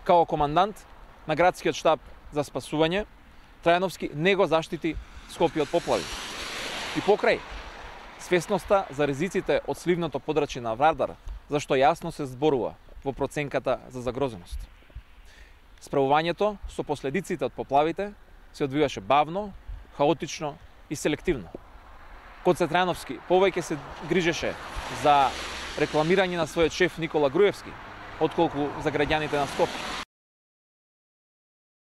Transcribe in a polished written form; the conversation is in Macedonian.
Као командант на градскиот штаб за спасување, Трајановски не го заштити Скопје од поплави. И покрај свесноста за ризиците од сливното подрачје на Вардар, зашто јасно се зборува во проценката за загрозеност. Справувањето со последиците од поплавите се одвиваше бавно, хаотично и селективно. Гоце Трајановски повеќе се грижеше за рекламирање на својот шеф Никола Груевски, отколку за граѓаните на Скопје.